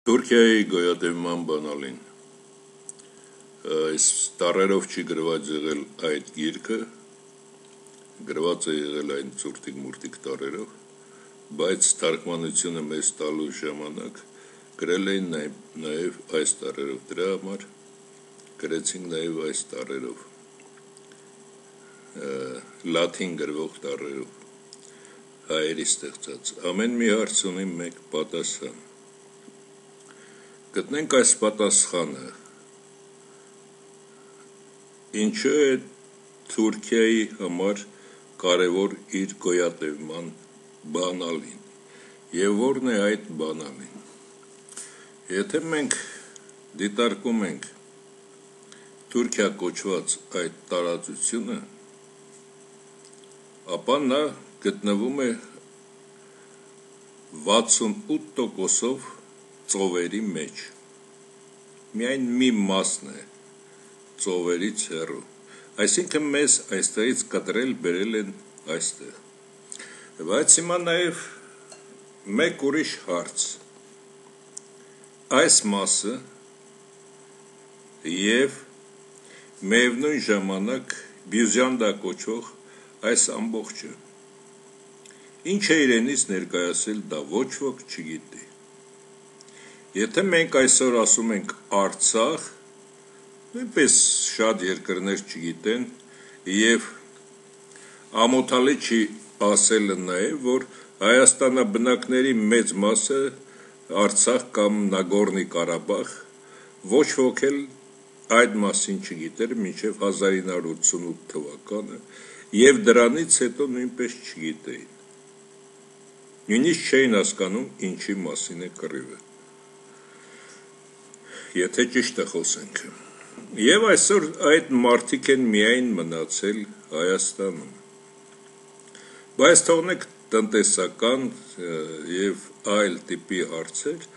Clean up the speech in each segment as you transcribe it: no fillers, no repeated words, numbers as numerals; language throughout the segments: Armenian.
Թուրքիայի գոյատևման բանալին այս տառերով չի գրված եղել այդ գիրքը, գրված է եղել այն ծուրտիկ-մուրտիկ տառերով, բայց թարգմանությունը մեզ տալու ժամանակ գրել էին նաև այս տառերով, դրա համար գրեցինք նաև այս տառերով, լաթին գրվող տառերով, հայերի ստեղծած, ամեն մի հարց ունի մեկ պատասխան, գտնենք այս պատասխանը, ինչու է Թուրքիայի համար կարևոր իր գոյատևման բանալին և որն է այդ բանալին, եթե մենք դիտարկում ենք Թուրքիա կոչված այդ տարածությունը, ապա նա գտնվում է 68%-ով ծովերի մեջ, միայն մի մասն է ծովերից հեռու, այսինքն մեզ այստեղից կտրել բերել են այստեղ, բայց հիմա նաև մեկ ուրիշ հարց, այս մասը և միևնույն ժամանակ Բյուզանդա կոչվող այս ամբողջը, ինչ է իրենից ներկայացել դա ոչ ոք չգիտի, եթե մենք այսօր ասում ենք Արցախ, նույնպես շատ երկրներ չգիտեն և ամոթալի չի ասելը նաև, որ Հայաստանաբնակների մեծ մասը Արցախ կամ Նագորնի Ղարաբաղ ոչ ոք էլ այդ մասին չգիտեր մինչև 1988 թվականը և դրանից հետո նույնպես չգիտեին, նույնիսկ չէին հասկանում ինչի մասին է կռիվը, եթե ճիշտը խոսենք, և այսօր այդ մարդիկ են միայն մնացել Հայաստանում, բայց թողնենք տնտեսական և այլ տիպի հարցեր,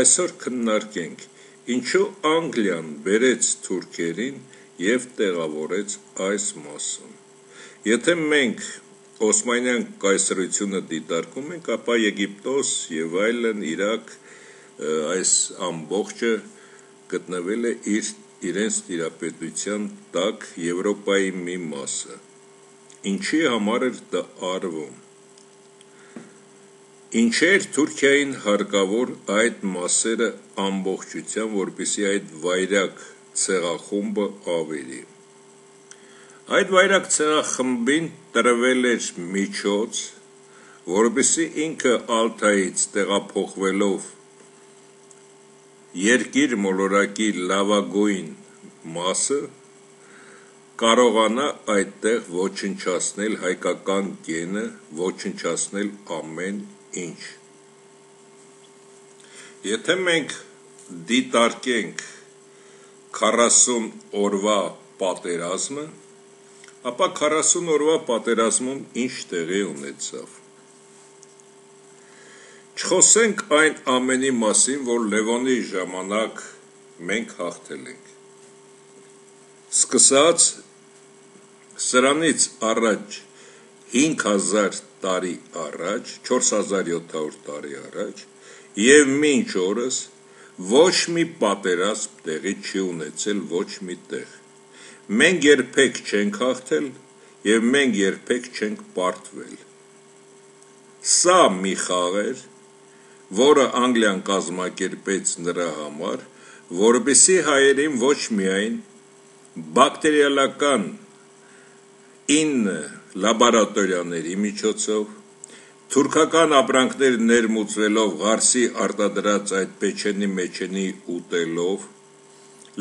այսօր քննարկենք, ինչու Անգլիան բերեց թուրքերին և տեղավորեց այս մասում, եթե մենք Օսմանյան կայսրությունը դիտարկում ենք, ապա Եգիպտոս և այլն Իրաք այս ամբողջը գտնվել է իրենց տիրապետության տակ Եվրոպայի մի մասը, ինչի համար էր դա արվում, ինչ էր Թուրքիային հարկավոր այդ մասերը ամբողջությամբ, որպեսզի այդ վայրագ ցեղախումբը ավերի, այդ վայրագ ցեղախմբին տրվել էր միջոց, որպեսզի ինքը Ալթայից տեղափոխվելով երկիր մոլորակի լավագույն մասը կարողանա այդտեղ ոչնչացնել հայկական գենը, ոչնչացնել ամեն ինչ, եթե մենք դիտարկենք 40 օրվա պատերազմը, ապա 40 օրվա պատերազմում ինչ տեղի ունեցավ, չխոսենք այն ամենի մասին, որ Լևոնի ժամանակ մենք հաղթել ենք, սկսած սրանից առաջ 5000 տարի առաջ, 4700 տարի առաջ և մինչ օրս ոչ մի պատերազմ տեղի չի ունեցել ոչ մի տեղ, մենք երբեք չենք հաղթել և մենք երբեք չենք պարտվել, սա մի խաղ էր, որը Անգլիան կազմակերպեց նրա համար, որպեսզի հայերին ոչ միայն բակտերիալական 9 լաբորատորիաների միջոցով, թուրքական ապրանքներ ներմուծվելով Ղարսի արտադրած այդ պեչենի ուտելով,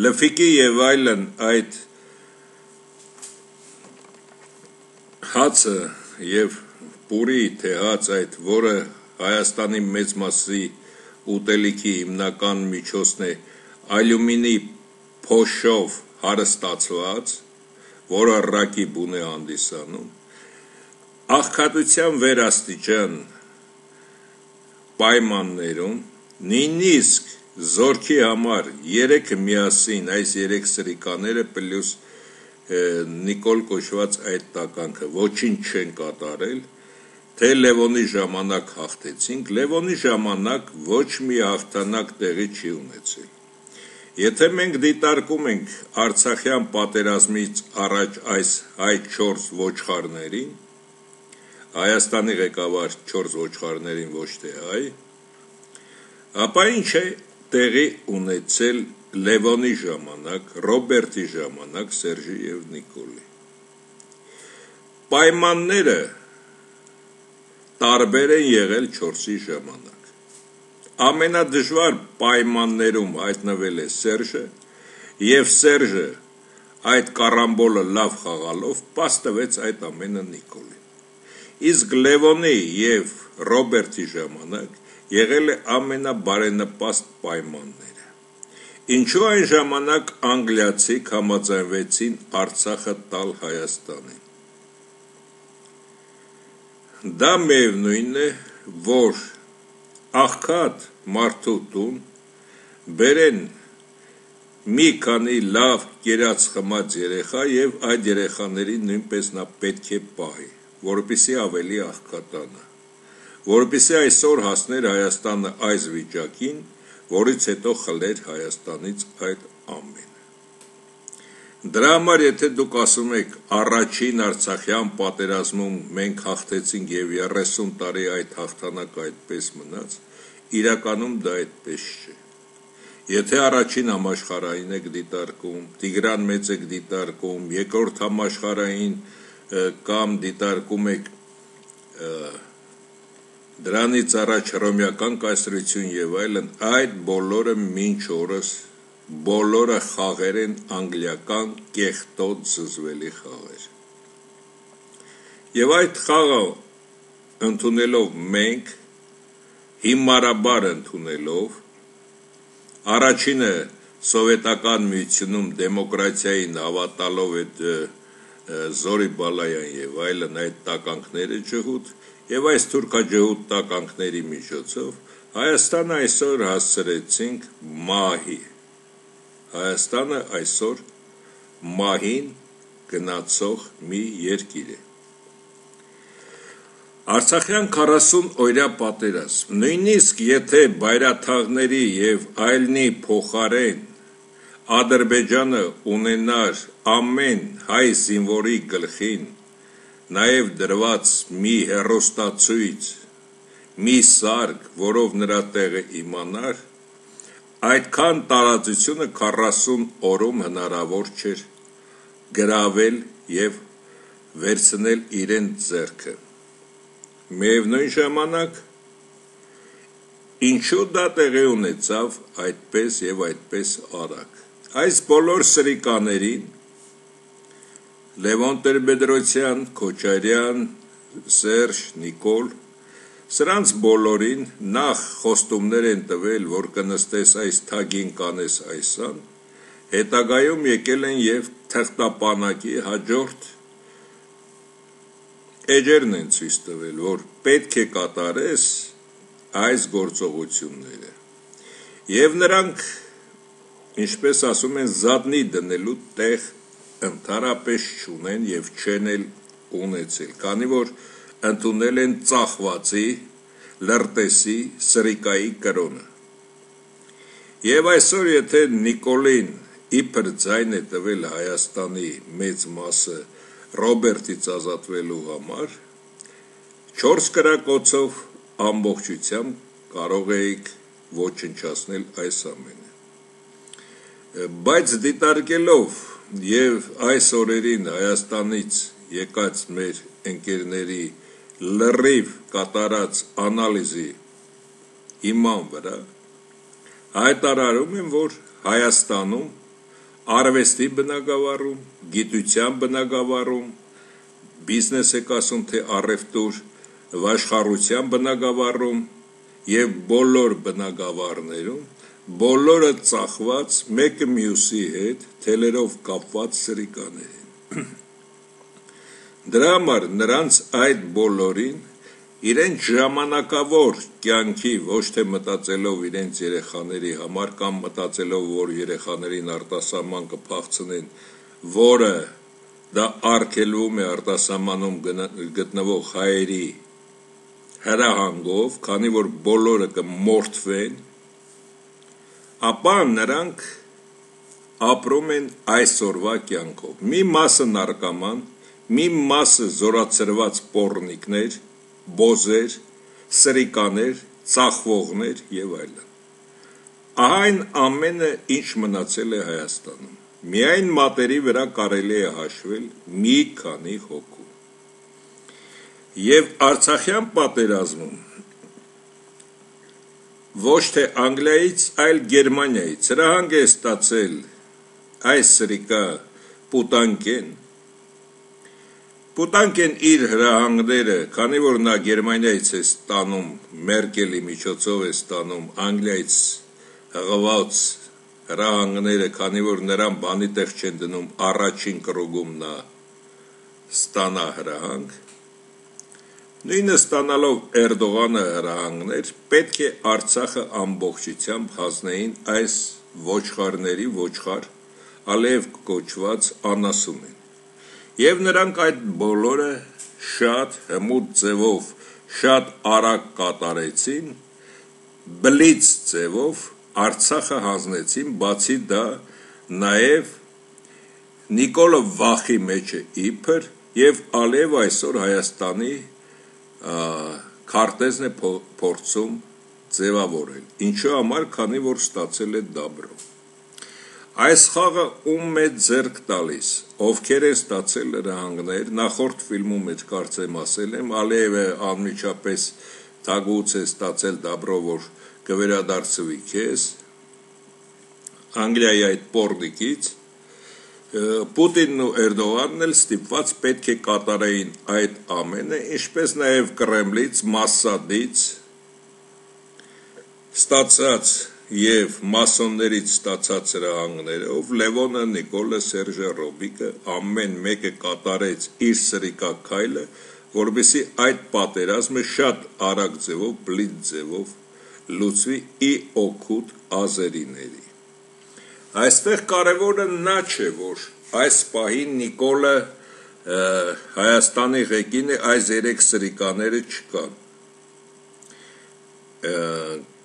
լֆիկի և այլն այդ հացը և պուրի թե հաց այդ, որը Հայաստանի մեծ մասի ուտելիքի հիմնական միջոցն է ալյումինի փոշով հարստացված, որը ռակի բուն է հանդիսանում, աղքատության վերաստիճան պայմաններում, նույնիսկ զորքի համար 3-ը միասին, այս 3 սրիկաները պլյուս Նիկոլ կոչված այդ տականքը ոչինչ չեն կատարել թե Լևոնի ժամանակ հաղթեցինք, Լևոնի ժամանակ ոչ մի հաղթանակ տեղի չի ունեցել։ Եթե մենք դիտարկում ենք Արցախյան պատերազմից առաջ այս հայ 4 ոչխարներին, Հայաստանի ղեկավար 4 ոչխարներին ոչ թե հայ, ապա ինչ է տեղի ունեցել Լևոնի ժամանակ, Ռոբերտի ժամանակ, Սերժի և Նիկոլի։ Պայմանները տարբեր են եղել 4-ի ժամանակ։ Ամենադժվար պայմաններում հայտնվել է Սերժը, և Սերժը այդ կարամբոլը լավ խաղալով պաս տվեց այդ ամենը Նիկոլին։ Իսկ Լևոնի և Ռոբերտի ժամանակ եղել է ամենաբարենպաստ պայմանները։ Ինչու այն ժամանակ անգլիացիք համաձայնվեցին Արցախը տալ Հայաստանին։ Դա միևնույն է, որ աղքատ մարդու տուն բերեն մի քանի լավ կերած խմած երեխա և այդ երեխաներին նույնպես նա պետք է պահի, որպեսզի ավելի աղքատանա, որպեսզի այսօր հասներ Հայաստանը այս վիճակին, որից հետո խլեր Հայաստանից այդ ամենը։ Դրա համար եթե դուք ասում եք առաջին Արցախյան պատերազմում մենք հաղթեցինք և 30 տարի այդ հաղթանակը այդպես մնաց, իրականում դա այդպես չէ։ Եթե առաջին համաշխարհային եք դիտարկում, Տիգրան Մեծ եք դիտարկում, երկրորդ համաշխարհային կամ դիտարկում եք դրանից առաջ հռոմեական կայսրություն և այլն, այդ բոլորը մինչ օրս բոլորը խաղեր են անգլիական կեղտոտ զզվելի խաղեր։ Եվ այդ խաղը ընդունելով մենք, հիմարաբար ընդունելով, առաջինը սովետական միությունում դեմոկրատիային հավատալով այդ Զորի Բալայան և այլն այդ տականքները ջհուդ և այս թուրքաջհուդ տականքների միջոցով Հայաստանը այսօր հասցրեցինք մահի։ Հայաստանը այսօր մահին գնացող մի երկիր է։ Արցախյան 40 օրյա պատերազմ, նույնիսկ եթե բայրաթաղների և այլնի փոխարեն Ադրբեջանը ունենար ամեն հայ զինվորի գլխին նաև դրված մի հեռուստացույց, մի սարք, որով նրա տեղը իմանար, այդքան տարածությունը 40 օրում հնարավոր չէր գրավել և վերցնել իրեն ձեռքը։ Միևնույն ժամանակ, ինչու դա տեղի ունեցավ այդպես և այդպես արագ։ Այս բոլոր սրիկաներին Լևոն Տեր-Բեդրոսյան, Քոչարյան, Սերժ, Նիկոլ, սրանց բոլորին նախ խոստումներ են տվել, որ կնստես այս թագին կանես այսան, հետագայում եկել են և թղթապանակի հաջորդ էջերն են ցույց տվել, որ պետք է կատարես այս գործողությունները։ Եվ նրանք, ինչպես ասում են, զատնի դնելու տեղ ընդհանրապես չունեն և չեն էլ ունեցել, քանի որ ընդունել են ծախվածի, լրտեսի, սրիկայի կրոնը։ Եվ այսօր եթե Նիկոլին իբր ձայն է տվել Հայաստանի մեծ մասը Ռոբերտից ազատվելու համար, 4 կրակոցով ամբողջությամբ կարող էիք ոչնչացնել այս ամենը։ Բայց դիտարկելով և այս օրերին Հայաստանից եկած մեր ընկերների լրիվ կատարած անալիզի հիման վրա, հայտարարում եմ, որ Հայաստանում արվեստի բնագավառում, գիտության բնագավառում, բիզնես եք ասում, թե առևտուր, վաշխառության բնագավառում և բոլոր բնագավառներում, բոլորը ծախված մեկը մյուսի հետ թելերով կապված սրիկաներ են։ Դրա համար նրանց այդ բոլորին իրենց ժամանակավոր կյանքի ոչ թե մտածելով իրենց երեխաների համար կամ մտածելով, որ երեխաներին արտասահման կփախցնեն, որը դա արգելվում է արտասահմանում գտնվող հայերի հրահանգով, քանի որ բոլորը կմորթվեն, ապա նրանք ապրում են այսօրվա կյանքով։ Մի մասը նարկոման, մի մասը զորացրված պոռնիկներ, բոզեր, սրիկաներ, ծախվողներ եւ այլն։ Ահա այն ամենը, ինչ մնացել է Հայաստանում։ Միայն մատերի վրա կարելի է հաշվել մի քանի հոգու։ Եվ Արցախյան պատերազմում ոչ թե Անգլիայից, այլ Գերմանիայից հրահանգ է ստացել այս սրիկա Պուտանկեն։ Պուտանկեն իր հրահանգները, քանի որ նա Գերմանիայից է ստանում, Մերկելի միջոցով է ստանում Անգլիայից հղված հրահանգները, քանի որ նրան բանի տեղ չեն դնում, առաջին կրուգում նա ստանա հրահանգ, նույնը ստանալով Էրդողանը հրահանգներ, պետք է Արցախը ամբողջությամբ հանձնեին այս ոչխարների ոչխար Ալիև կոչված անասունին։ Եվ նրանք այդ բոլորը շատ հմուտ ձևով, շատ արագ կատարեցին, բլից ձևով Արցախը հանձնեցին, բացի դա նաև Նիկոլը վախի մեջ է իբր եւ Ալիև այսօր Հայաստանի քարտեզն է փորձում ձևավորել։ Ինչու համար, քանի որ ստացել է դաբրո։ Այս խաղը ում է ձեռք տալիս, ովքեր են ստացել հրահանգներ, նախորդ ֆիլմում էլ կարծեմ ասել եմ, Ալիևը անմիջապես թագուց է ստացել դաբրո, որ կվերադարձվի քեզ Անգլիայի այդ պոռնիկից, Պուտինն ու Էրդողանն էլ ստիպված պետք է կատարեին այդ ամենը, ինչպես նաև Կրեմլից, Մասադից ստացած եւ մասոններից ստացած հրահանգներով Լևոնը, Նիկոլը, Սերժը, Ռոբիկը ամեն մեկը կատարեց իր սրիկա քայլը, որովհետեւ այդ պատերազմը շատ արագ ձևով, բլիթ ձևով լուծվի ի օգուտ ազերիների։ Այստեղ կարևորը նա չէ, որ այս պահին Նիկոլը Հայաստանի ղեկին է, այս երեք սրիկաները չկան։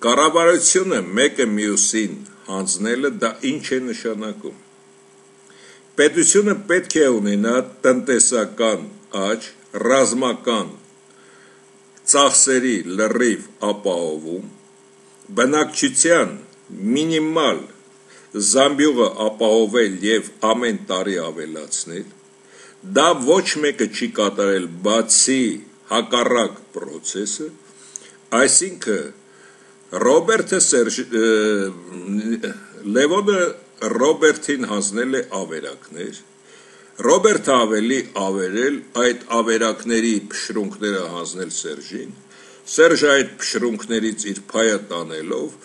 Կառավարությունը մեկը մյուսին հանձնելը դա ինչ է նշանակում։ Պետությունը պետք է ունենա տնտեսական աճ, ռազմական ծախսերի լրիվ ապահովում, բնակչության մինիմալ զամբյուղը ապահովել եւ ամեն տարի ավելացնել, դա ոչ մեկը չի կատարել, բացի հակառակ process-ը, այսինքն Լևոնը Ռոբերտին հանձնել է ավերակներ, Ռոբերտը ավելի ավերել, այդ ավերակների փշրունքները հանձնել Սերժին, Սերժը այդ փշրունքներից իր փայը տանելով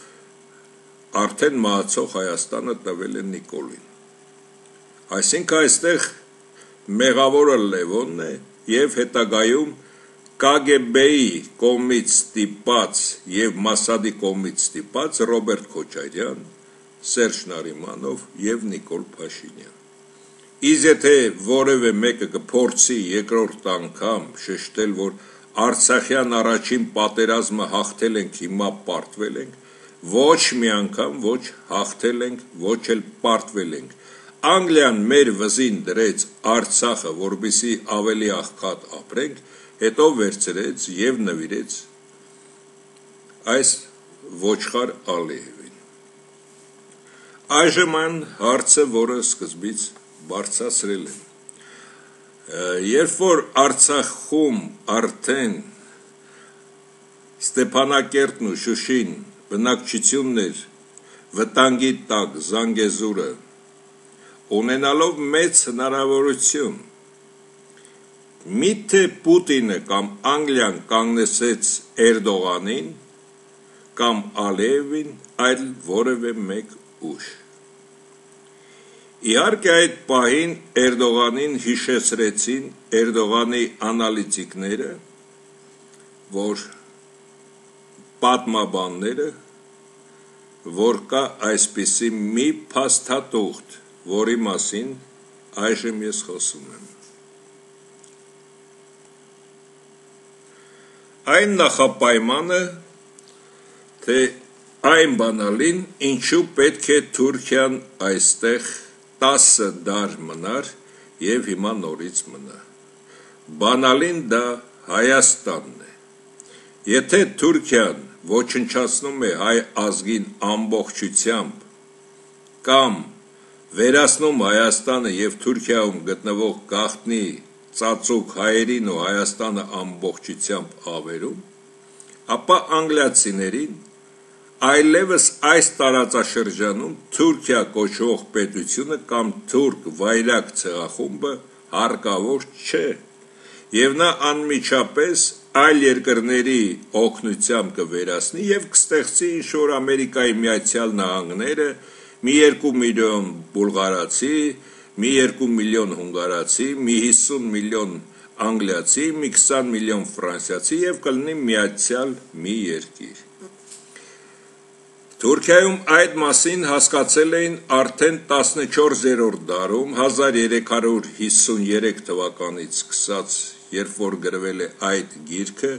արդեն մահացող Հայաստանը տվել է Նիկոլին։ Այսինքն այստեղ մեղավորը Լևոնն է եւ հետագայում KGB-ի կողմից ստիպած եւ Մասադի կողմից ստիպած Ռոբերտ Քոչարյան, Սերժ Նարիմանով եւ Նիկոլ Փաշինյան։ Իսկ եթե որևէ մեկը կփորձի երկրորդ անգամ շեշտել, որ Արցախյան առաջին պատերազմը հաղթել ենք, հիմա պարտվել ենք, ոչ մի անգամ ոչ հաղթել ենք, ոչ էլ պարտվել ենք։ Անգլիան մեր վզին դրեց Արցախը, որպեսզի ավելի աղքատ ապրենք, հետո վերցրեց եւ նվիրեց այս ոչխար Ալիևին։ Այժմ այն հարցը, որը սկզբից բարձրացրել եմ, երբ որ Արցախում արդեն Ստեփանակերտն ու Շուշին բնակչություններ վտանգի տակ Զանգեզուրը ունենալով մեծ հնարավորություն, միթե Պուտինը կամ Անգլիան կանգնեցեց Էրդողանին կամ Ալիևին, այլ որևէ մեկ ուժ։ Իհարկե այդ պահին Էրդողանին հիշեցրեցին Էրդողանի անալիտիկները, որ պատմաբանները, որ կա այսպիսի մի փաստաթուղթ, որի մասին այժմ ես խոսում եմ։ այն նախապայմանը, թե այն բանալին, ինչու պետք է Թուրքիան այստեղ 10 դար մնար և հիմա նորից մնա։ Բանալին դա Հայաստանն է։ Եթե Թուրքիան ոչնչացնում է հայ ազգին ամբողջությամբ կամ վերացնում Հայաստանը և Թուրքիայում գտնվող գաղտնի ծածուկ հայերին ու Հայաստանը ամբողջությամբ ավերում, ապա անգլիացիներին այլևս այս տարածաշրջանում Թուրքիա կոչվող պետությունը կամ թուրք վայրագ ցեղախումբը հարկավոր չէ, և նա անմիջապես այլ երկրների օգնությամբ կվերացնի և կստեղծի ինչ-որ Ամերիկայի Միացյալ Նահանգները, մի 2 միլիոն բուլղարացի, մի 2 միլիոն հունգարացի, մի 50 միլիոն անգլիացի, մի 20 միլիոն ֆրանսիացի և կլինի միացյալ մի երկիր։ Թուրքիայում այդ մասին հասկացել էին արդեն 14-րդ դարում 1353 թվականից սկսած, երբ որ գրվել է այդ գիրքը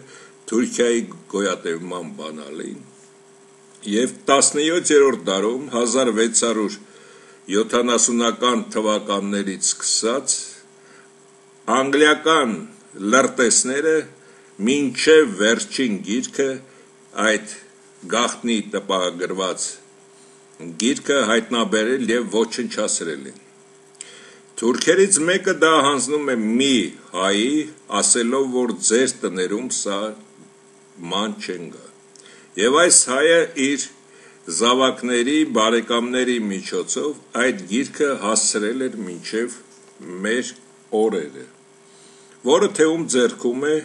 Թուրքիայի գոյատևման բանալին, և 17-րդ դարում 1670-ական թվականներից սկսած անգլիական լրտեսները մինչև վերջին գիրքը այդ գաղտնի տպագրված գիրքը հայտնաբերել և ոչնչացրել են։ Թուրքերից մեկը դա հանձնում է մի հայի, ասելով, որ ձեր տներում սա ման չեն գա։ Եվ այս հայը իր զավակների, բարեկամների միջոցով այդ գիրքը հասցրել էր մինչև մեր օրերը, որը թե ում ձեռքում է,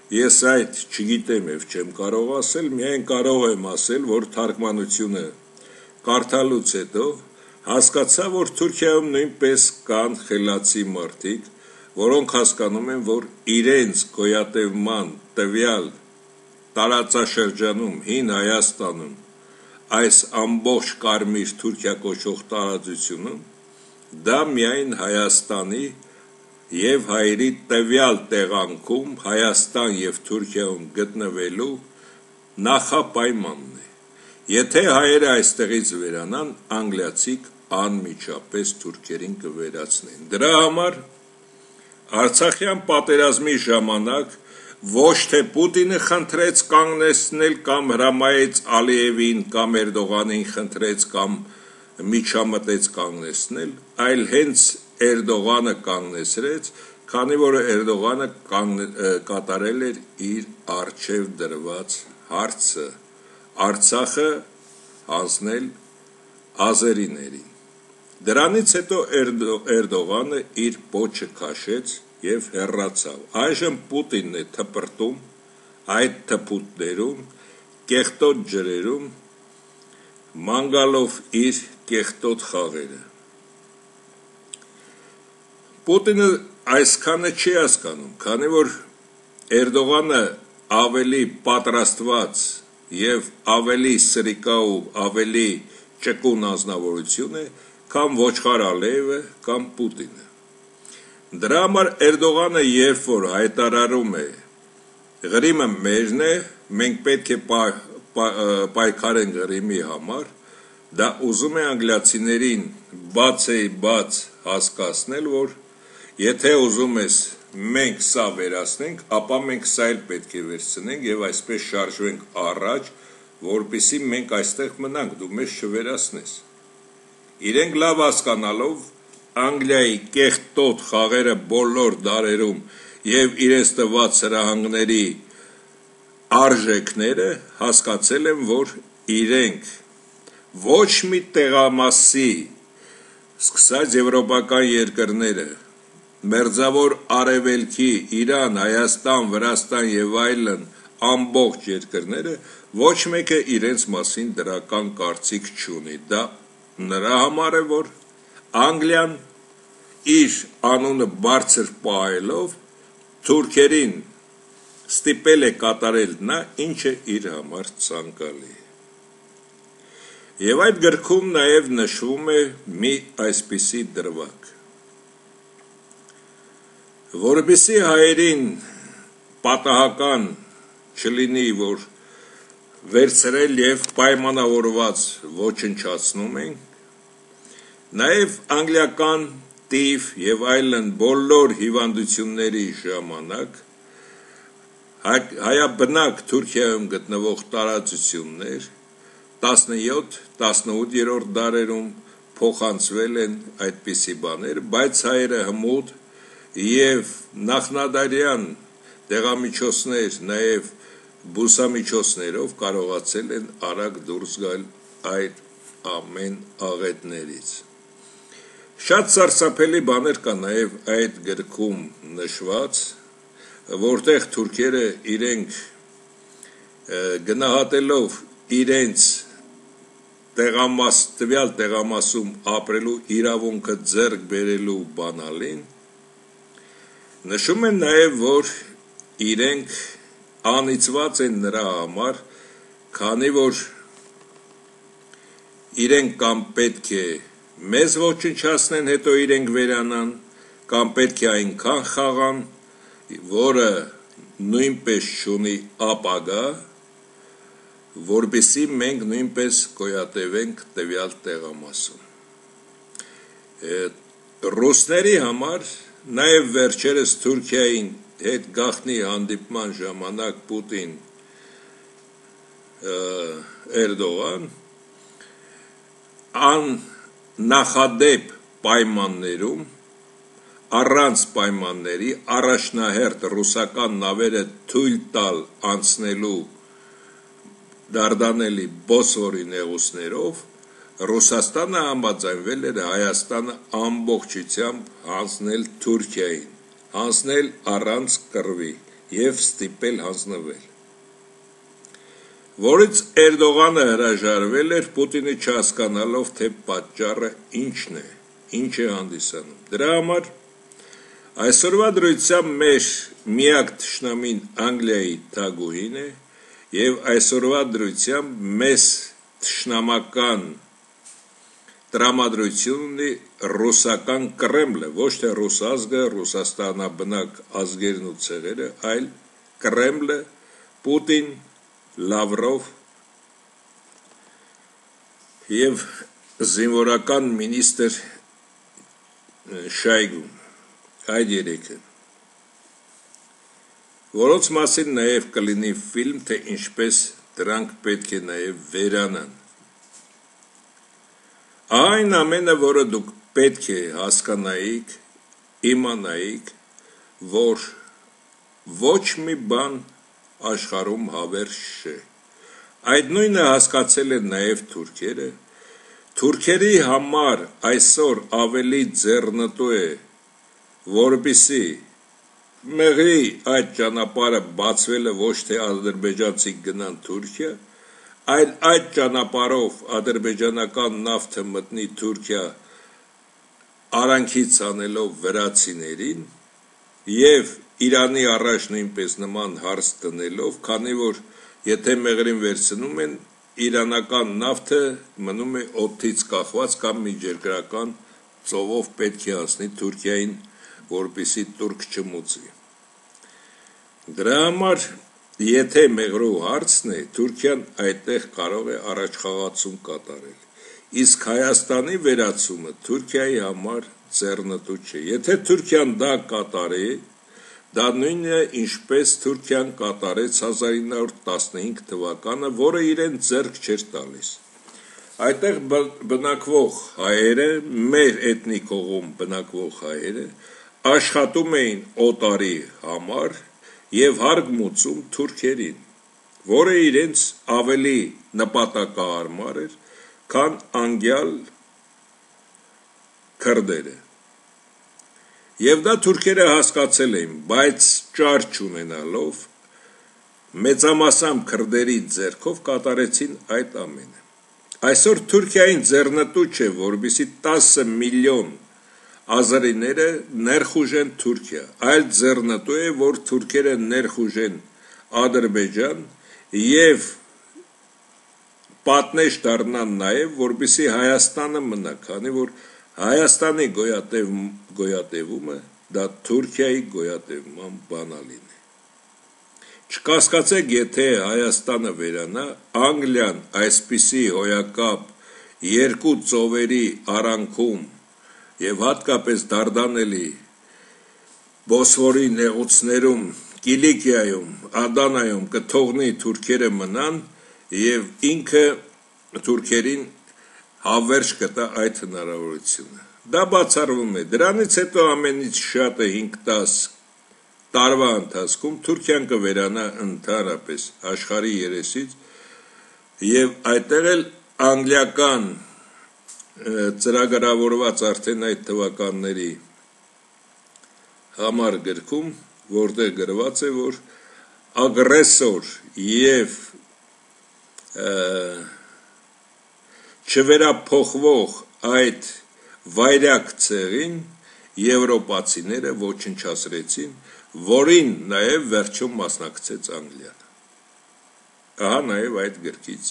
ես այդ չգիտեմ և չեմ կարող ասել, միայն կարող եմ ասել, որ թարգմանությունը կարդալուց հետո հասկացա, որ Թուրքիայում նույնպես կան խելացի մարդիկ, որոնք հասկանում են, որ իրենց գոյատևման տվյալ տարածաշրջանում, հին Հայաստանում, այս ամբողջ կարմիր Թուրքիա կոչվող տարածությունում, դա միայն Հայաստանի և հայերի տվյալ տեղանքում Հայաստան և Թուրքիայում գտնվելու նախապայմանն է։ Եթե հայերը այստեղից վերանան, անգլիացիք անմիջապես թուրքերին կվերացնեն։ Դրա համար Արցախյան պատերազմի ժամանակ ոչ թե Պուտինը խնդրեց կանգնեցնել կամ հրամայեց Ալիևին կամ Էրդողանին խնդրեց կամ միջամտեց կանգնեցնել, այլ հենց Էրդողանը կանգնեցրեց, քանի որ Էրդողանը կատարել էր իր առջև դրված հարցը՝ Արցախը հանձնել ազերիներին։ Դրանից հետո Էրդողանը իր պոչը քաշեց և հեռացավ։ Այժմ Պուտինն է թպրտում այդ թփուտներում, կեղտոտ ջրերում, ման գալով իր կեղտոտ խաղերը։ Պուտինը այսքանը չի հասկանում, քանի որ Էրդողանը ավելի պատրաստված և ավելի սրիկա ու ավելի ճկուն անձնավորություն է, քան Ոչխար Ալիևը կամ Պուտինը։ Դրա համար Էրդողանը երբ որ հայտարարում է Ղրիմը մերն է, մենք պետք է պայքարենք Ղրիմի համար, դա ուզում է անգլիացիներին բաց հասկացնել, որ եթե ուզում ես մենք սա վերացնենք, ապա մենք սա էլ պետք է վերցնենք և այսպես շարժվենք առաջ, որպեսզի մենք այստեղ մնանք, դու մեզ չվերացնես։ Իրենք լավ հասկանալով Անգլիայի կեղտոտ խաղերը բոլոր դարերում և իրենց տված հրահանգների արժեքները, հասկացել են, որ իրենք ոչ մի տեղամասի, սկսած եվրոպական երկրները, մերձավոր Արևելքի, Իրան, Հայաստան, Վրաստան և այլն ամբողջ երկրները, ոչ մեկը իրենց մասին դրական կարծիք չունի։ Դա նրա համար է, որ Անգլիան իր անունը բարձր պահելով թուրքերին ստիպել է կատարել նա, ինչը իր համար ցանկալի է։ Եվ այդ գրքում նաև նշվում է մի այսպիսի դրվագ. որպեսզի հայերին պատահական չլինի, որ վերցրել եւ պայմանավորված ոչնչացնում ենք, նաեւ անգլիական տիվ եւ այլն բոլոր հիվանդությունների ժամանակ հայաբնակ Թուրքիայում գտնվող տարածություններ 17-18-րդ դարերում փոխանցվել են այդպիսի բաներ, բայց հայերը հմուտ եւ նախնադարյան դեղամիջոցներ, նաեւ բուսամիջոցներով կարողացել են արագ դուրս գալ այդ ամեն աղետներից։ Շատ սարսափելի բաներ կա նաեւ այդ գրքում նշված, որտեղ թուրքերը իրենք գնահատելով իրենց տվյալ տեղամասում ապրելու իրավունքը ձեռք բերելու բանալին, նշում են նաեւ, որ իրենք անիծված են նրա համար, քանի որ իրենք կամ պետք է մեզ ոչնչացնեն, հետո իրենք վերանան, կամ պետք է այնքան խաղան, որը նույնպես չունի ապագա, որպեսզի մենք նույնպես գոյատևենք տվյալ տեղամասում։ Ռուսների համար նաև վերջերս Թուրքիային հետ գաղտնի հանդիպման ժամանակ Պուտին Էրդողան աննախադեպ պայմաններում առանց պայմանների առաջնահերթ ռուսական նավերը թույլ տալ անցնելու դարդանելի Բոսֆորի նեղուցներով Ռուսաստանը համաձայնվել էր Հայաստանը ամբողջությամբ հանձնել Թուրքիային, հանձնել առանց կռվի եւ ստիպել հանձնվել, որից Էրդողանը հրաժարվել էր Պուտինը չհասկանալով, թե պատճառը ինչն է, ինչ է հանդիսանում։ Դրա համար այսօրվա դրությամբ մեր միակ թշնամին Անգլիայի թագուհին է եւ այսօրվա դրությամբ մեզ թշնամական տրամադրություն ունի ռուսական Կրեմլը, ոչ թե ռուս ազգը, Ռուսաստանաբնակ ազգերն ու ցեղերը, այլ Կրեմլը, Պուտին, Լավրով եւ զինվորական մինիստրը Շայգուն, այդ երեքը, որոնց մասին նաև կլինի ֆիլմ, թե ինչպես դրանք պետք է նաև վերանան։ Այն ամենը, որը դուք պետք է հասկանայիք, իմանայիք, որ ոչ մի բան աշխարհում հավերժ չէ։ Այդ նույնը հասկացել են նաև թուրքերը։ Թուրքերի համար այսօր ավելի ձեռնտու է, որպեսզի մեղրի այդ ճանապարհը բացվելը ոչ թե ադրբեջանցի գնան Թուրքիա, այլ այդ ճանապարհով ադրբեջանական նավթը մտնի Թուրքիա արանքից անելով վրացիներին եւ Իրանի առաջ նույնպես նման հարց տնելով, քանի որ եթե մեղրին վերցնում են, իրանական նավթը մնում է օդից կախված կամ միջերկրական ծովով պետք է անցնի Թուրքիային, որպեսզի турք չմուծի։ Դրա համար, եթե մեղրու հարցն է, Թուրքիան այդտեղ կարող է առաջխաղացում կատարել, իսկ Հայաստանի վերացումը Թուրքիայի համար ձեռնտու չէ։ Եթե Թուրքիան դա կատարի, դա նույնն է, ինչպես Թուրքիան կատարեց 1915 թվականը, որը իրեն ձեռք չէր տալիս։ Այդտեղ բնակվող հայերը, մեր էթնիկ հողում բնակվող հայերը, աշխատում էին օտարի համար եւ հարգմուծում թուրքերին, որը իրենց ավելի նպատակահարմար էր, քան անգյալ քրդերը։ Եվ դա թուրքերը հասկացել էին, բայց ճար չունենալով մեծամասամբ քրդերի ձեռքով կատարեցին այդ ամենը։ Այսօր Թուրքիային ձեռնտու չէ, որպեսզի 10 միլիոն ազարիները ներխուժեն Թուրքիա, այլ ձեռնտու է, որ թուրքերը ներխուժեն Ադրբեջան եւ պատնեշ դառնան նաեւ, որպեսզի Հայաստանը մնա, քանի որ Հայաստանի գոյատևումը դա Թուրքիայի գոյատևման բանալին է։ Չկասկածեք, եթե Հայաստանը վերանա, Անգլիան այսպիսի հոյակապ երկու ծովերի արանքում եւ հատկապես դարդանելի Բոսֆորի նեղուցներում, Կիլիկիայում, Ադանայում կթողնի թուրքերը մնան եւ ինքը թուրքերին հավերժ կտա այդ հնարավորությունը։ Դա բացառվում է։ Դրանից հետո ամենից շատը 5-10 տարվա ընթացքում Թուրքիան կվերանա ընդհանրապես աշխարհի երեսից եւ այդտեղ էլ անգլիական ծրագրավորված արդեն այդ թվականների համար գրքում, որտեղ գրված է, որ ագրեսոր եւ չվերափոխվող այդ վայրակ ցեղին եվրոպացիները ոչնչացրեցին, որին նաև վերջում մասնակցեց Անգլիան։ Ահա նաև այդ գրքից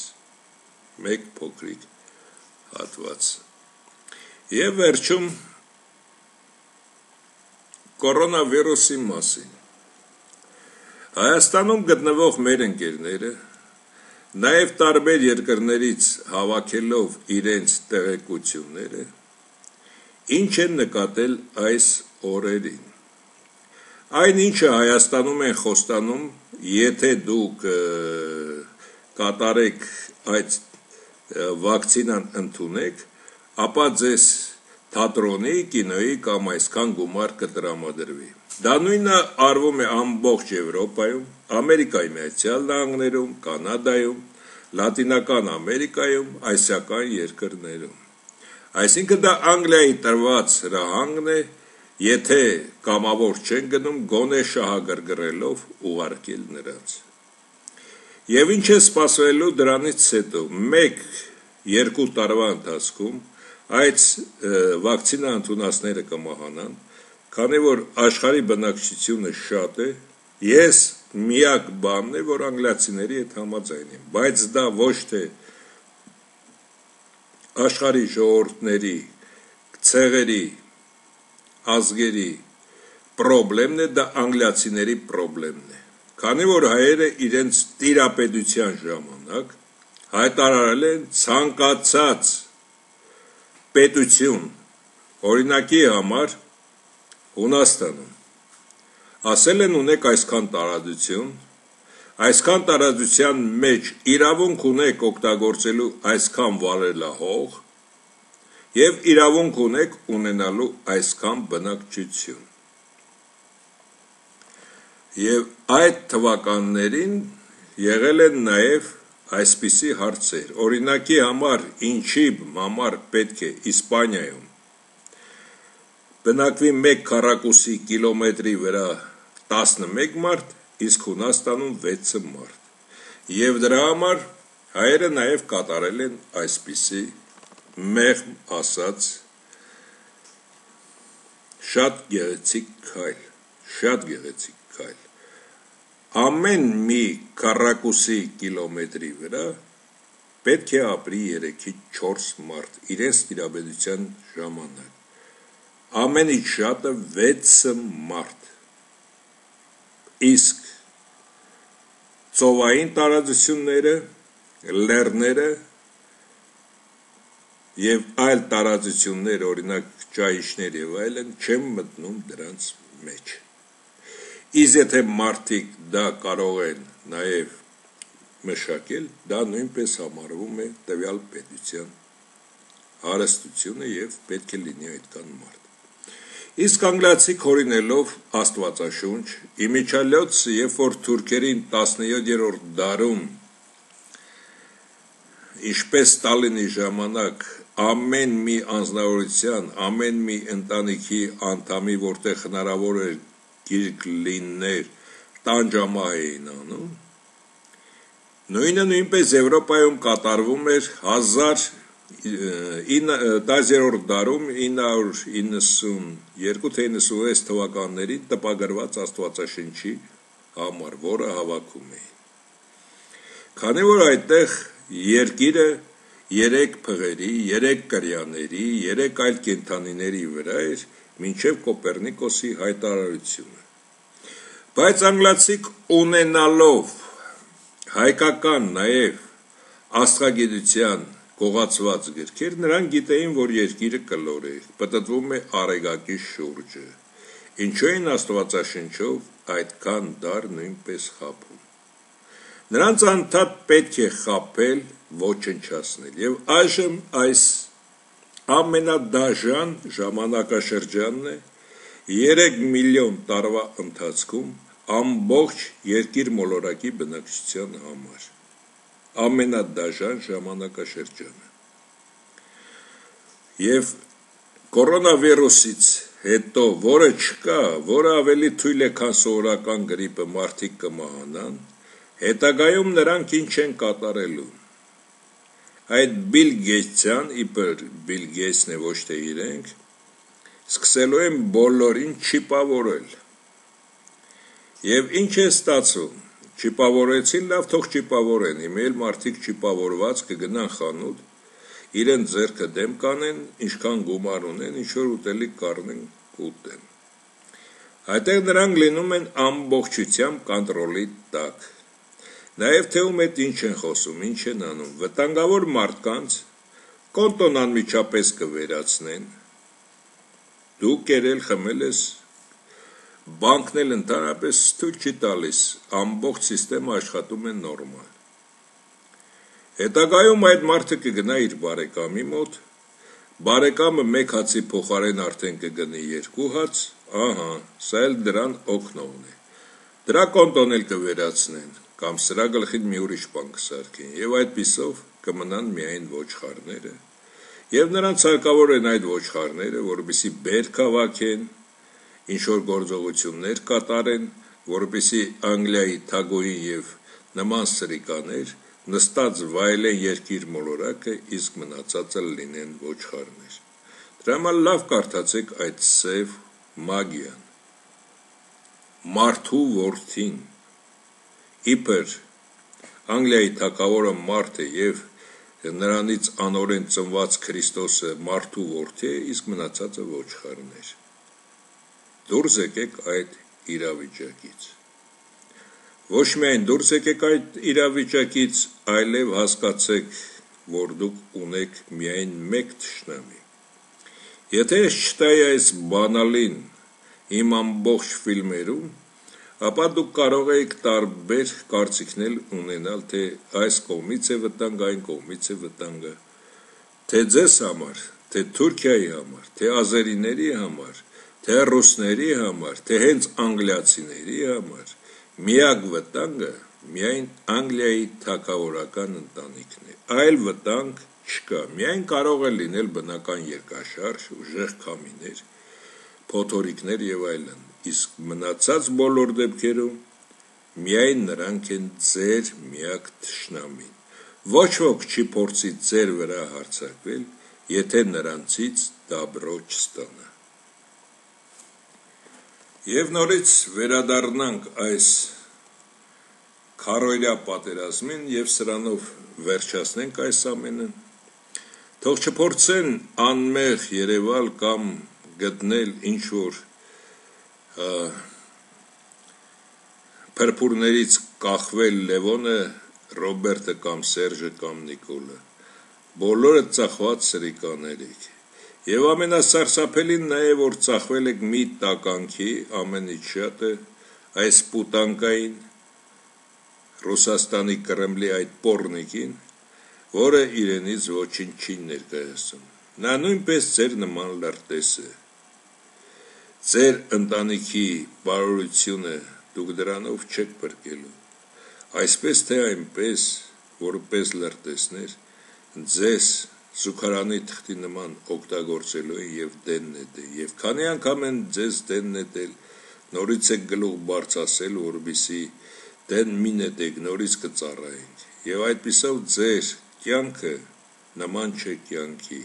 մեկ փոքրիկ հատված։ Եվ վերջում կորոնավիրուսի մասին։ Հայաստանում գտնվող մեր ընկերները նաև տարբեր երկրներից հավաքելով իրենց տեղեկությունները, ինչ են նկատել այս օրերին։ Այն ինչը Հայաստանում են խոստանում, եթե դուք կատարեք այդ վակցինան ընդունեք, ապա ձեզ թատրոնի, կինոյի կամ այսքան գումար կտրամադրվի։ Դա նույնը արվում է ամբողջ Եվրոպայում, Ամերիկայի Միացյալ Նահանգներում, Կանադայում, Լատինական Ամերիկայում, ասիական երկրներում։ Այսինքն դա Անգլիայի տրված հրահանգն է, եթե կամավոր չեն գնում, գոնե շահագրգռելով ուղարկել նրանց։ Եվ ինչ է սպասվելու դրանից հետո, 1-2 տարվա ընթացքում այդ վակցինա ընդունածները կմահանան, քանի որ աշխարհի բնակչությունը շատ է, ես միակ բանն է, որ անգլիացիների հետ համաձայն եմ, բայց դա ոչ թե աշխարհի ժողովուրդների, ցեղերի, ազգերի խնդիրն է, դա անգլիացիների խնդիրն է, քանի որ հայերը իրենց տիրապետության ժամանակ հայտարարել են ցանկացած պետություն, օրինակի համար Հունաստանում, ասել են ունեք այսքան տարածություն, այսքան տարածության մեջ իրավունք ունեք օգտագործելու այսքան վարելահող եւ իրավունք ունեք ունենալու այսքան բնակչություն։ Եվ այդ թվականներին եղել են նաեւ այսպիսի հարցեր, օրինակի համար ինչի համար պետք է Իսպանիայում բնակվի 1 քառակուսի կիլոմետրի վրա 11 մարդ, իսկ Հունաստանում 6 մարդ։ Եվ դրա համար հայերը նաև կատարել են այսպիսի մեղմ ասած շատ գեղեցիկ քայլ։ Ամեն մի քառակուսի կիլոմետրի վրա պետք է ապրի 3-ից 4 մարդ իրենց տիրապետության ժամանակ։ Ամենից շատը 6 մարդ, իսկ ծովային տարածությունները, լեռները եւ այլ տարածություններ, օրինակ ճահիճներ եւ այլն, չեն մտնում դրանց մեջ։ Իսկ եթե մարդիկ դա կարող են նաեւ մշակել, դա նույնպես համարվում է տվյալ պետության հարստությունը եւ պետք է լինի այդքան մարդ։ Իսկ անգլիացիք հորինելով Աստվածաշունչ, իմիջիալոց, երբ որ թուրքերին 17-րդ դարում, ինչպես Ստալինի ժամանակ, ամեն մի անձնավորության, ամեն մի ընտանիքի անդամի, որտեղ հնարավոր էր գիրք լիններ, տանջամահ էին անում, նույնը նույնպես Եվրոպայում կատարվում էր 10-րդ դարում 992-96 թվականներին տպագրված Աստվածաշնչի համար, որը հավաքում էին։ Քանի որ այդտեղ երկիրը 3 փղերի, 3 կրյաների, 3 այլ կենդանիների վրա էր մինչև Կոպեռնիկոսի հայտարարությունը։ Բայց անգլացիք ունենալով հայկական նաև աստղագիտության գողացված գրքեր, նրանք գիտեին, որ երկիրը կլոր է, պտտվում է արեգակի շուրջը, ինչու էին աստվածաշնչով այդքան դար նույնպես խաբում։ Նրանց անդադ պետք է խաբել, ոչնչացնել, և այժմ այս ամենադաժան ժամանակաշրջանն է 3 միլիոն տարվա ընթացքում ամբողջ երկիր մոլորակի բնակչության համար, ամենադաժան ժամանակաշրջանը։ Եվ կորոնավիրուսից հետո, որը չկա, որը ավելի թույլ է, քան սովորական գրիպը, մարդիկ կմահանան, հետագայում նրանք ինչ են կատարելու։ Այդ Բիլ Գեյթսյան, իբր Բիլ Գեյթսն է, ոչ թե իրենք, սկսելու են բոլորին չիպավորել։ Եվ ինչ է ստացվում, չիպավորեցին, լավ թող չիպավորեն, հիմա էլ մարդիկ չիպավորված կգնան խանութ, իրեն ձեռքը դեմ կանեն, ինչքան գումար ունեն, ինչ-որ ուտելիք կառնեն կուտեն։ Այդտեղ նրանք լինում են ամբողջությամբ կոնտրոլի տակ։ Նաև թե ում հետ ինչ են խոսում, ինչ են անում, վտանգավոր մարդկանց կոնտոն անմիջապես կվերացնեն, դու կերել խմել ես, բանկն էլ ընդհանրապես թույլ չի տալիս, ամբողջ սիստեմը աշխատում է նորմալ։ Հետագայում այդ մարդը կգնա իր բարեկամի մոտ, բարեկամը մեկ հացի փոխարեն արդեն կգնի 2 հաց, ահա, սա էլ դրան օգնողն է։ Դրա կոնտոն էլ կվերացնեն, կամ սրա գլխին մի ուրիշ բան կսարքեն, եւ այդպիսով կմնան միայն ոչխարները, եւ նրանց հարկավոր են այդ ոչխարները, որպեսզի բերք հավաքեն, ինչ-որ գործողություններ կատարեն, որպեսզի Անգլիայի թագուհին եւ նման սրիկաներ նստած վայելեն երկիր մոլորակը, իսկ մնացածը լինեն ոչխարներ։ Դրա համար լավ կարդացեք այդ սև մագիան։ Մարդու որդին, իբր Անգլիայի թագավորը մարդ է եւ նրանից անօրեն ծնված Քրիստոսը մարդու որդի է, իսկ մնացածը ոչխարներ։ Դուրս եկեք այդ իրավիճակից։ Ոչ միայն դուրս եկեք այդ իրավիճակից, այլև հասկացեք, որ դուք ունեք միայն մեկ թշնամի։ Եթե ես չտայի այս բանալին իմ ամբողջ ֆիլմերում, ապա դուք կարող եք տարբեր կարծիքներ ունենալ, թե այս կողմից է վտանգը, այն կողմից է վտանգը, թե ձեզ համար, թե Թուրքիայի համար, թե ազերիների համար, թե ռուսների համար, թե հենց անգլիացիների համար, միակ վտանգը միայն Անգլիայի թագավորական ընտանիքն է, այլ վտանգ չկա, միայն կարող է լինել բնական երկաշարժ, ուժեղ քամիներ, փոթորիկներ եւ այլն, իսկ մնացած բոլոր դեպքերում միայն նրանք են ձեր միակ թշնամին։ Ոչ ոք չի փորձի ձեր վրա հարձակվել, եթե նրանցից դաբրո չստանա։ Եվ նորից վերադառնանք այս քարոյրյա պատերազմին եւ սրանով վերջացնենք այս ամենը։ Թող չփորձեն անմեղ երևալ կամ գտնել ինչ-որ փրփուրներից կախվել Լևոնը, Ռոբերտը կամ Սերժը կամ Նիկոլը։ Բոլորը ծախված սրիկաներ եք։ Եվ ամենասարսափելին նա է, որ ծախվել եք մի տականքի ամենից շատը այս պուտանկային Ռուսաստանի Կրեմլի այդ պոռնիկին, որը իրենից ոչինչ չի ներկայացնում։ Նա նույնպես ձեր նման լրտես է։ Ձեր ընտանիքի բարօրությունը դուք դրանով չեք բրկելու։ Այսպես թե այնպես, որպես լրտեսներ, ձեզ զուգարանի թղթի նման օգտագործելու են եւ դեն նետել, եւ քանի անգամ են ձեզ դեն նետել, նորից եք գլուխ բարձրացել, որպեսզի դեն մի նետեք, նորից կծառայենք, եւ այդպիսով ձեր կյանքը նման չէ կյանքի,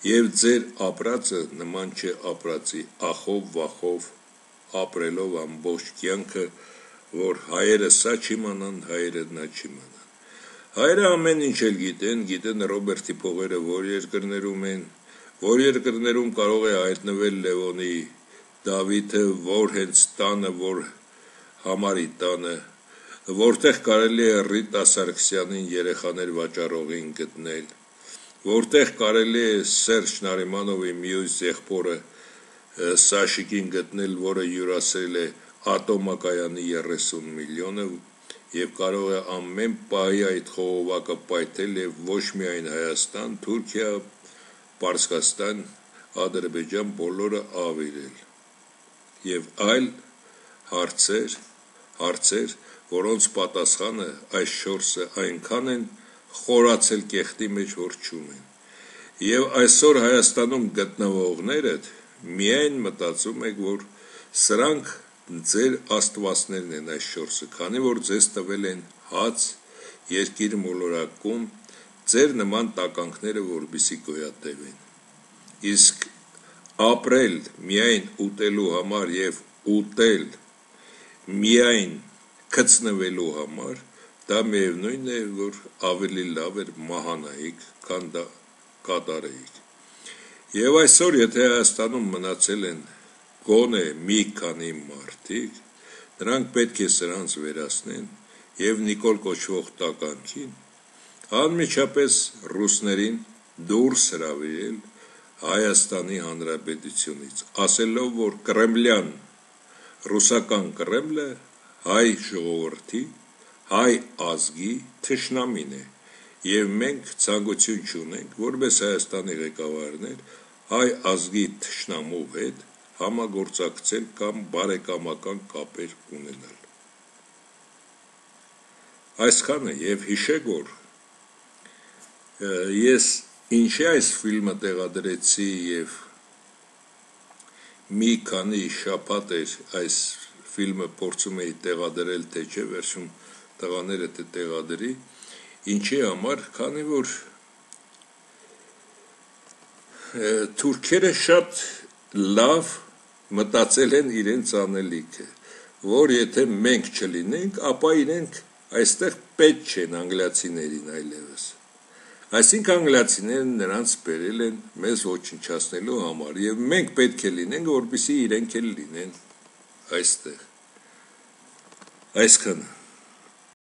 եւ ձեր ապրածը նման չէ ապրածի, ախով վախով ապրելով ամբողջ կյանքը, որ հայերը սա չիմանան, հայերը նա չիմանան։ Հայերը ամեն ինչ էլ գիտեն Ռոբերտի փողերը որ երկրներում են, որ երկրներում կարող է հայտնվել Լևոնի Դավիթը, որ հենց տանը, որ համարի տանը, որտեղ կարելի է Ռիտա Սարգսյանին երեխաներ վաճառողին գտնել, որտեղ կարելի է Սերժ Նարիմանովի մյուս եղբորը Սաշիկին գտնել, որը յուրացրել է ատոմակայանի 30 միլիոնը եւ կարող է ամեն պահի այդ խողովակը պայթել եւ ոչ միայն Հայաստան, Թուրքիա, Պարսկաստան, Ադրբեջան բոլորը ավիրել եւ այլ հարցեր, որոնց պատասխանը այս 4-ը այնքան են խորացել կեղտի մեջ, որ չունեն։ Եվ այսօր Հայաստանում գտնվողները միայն մտածում եք, որ սրանք ձեր աստվածներն են այս 4-ը, քանի որ ձեզ տվել են հաց, երկիր մոլորակում, ձեր նման տականքները որպեսզի գոյատևեն։ Իսկ ապրել միայն ուտելու համար եւ ուտել միայն գցնվելու համար, դա միևնույն է, որ ավելի լավ էր մահանայիք, քան դա կատարեիք։ Եվ այսօր, եթե Հայաստանում մնացել են գոնե մի քանի մարդիկ, նրանք պետք է սրանց վերացնեն եւ Նիկոլ կոչվող տականքին անմիջապես ռուսներին դուրս հրավիրել Հայաստանի Հանրապետությունից, ասելով, որ կրեմլյան ռուսական Կրեմլը հայ ժողովրդի, հայ ազգի թշնամին է եւ մենք ցանկություն չունենք որպես Հայաստանի ղեկավարներ հայ ազգի թշնամու հետ համագործակցել կամ բարեկամական կապեր ունենալ։ Այսքանը եւ հիշեք, որ ես ինչի այս ֆիլմը տեղադրեցի եւ մի քանի շաբաթ էր այս ֆիլմը փորձում էի տեղադրել, թե չէ վերջում տղաները տեղադրի, ինչի համար, քանի որ թուրքերը շատ լավ մտածել են իրենց անելիքը, որ եթե մենք չլինենք, ապա իրենք այստեղ պետք չեն անգլիացիներին այլևս։ Այսինքն անգլիացիները նրանց բերել են մեզ ոչնչացնելու համար եւ մենք պետք է լինենք, որպեսզի իրենք էլ լինեն այստեղ։ Այսքանը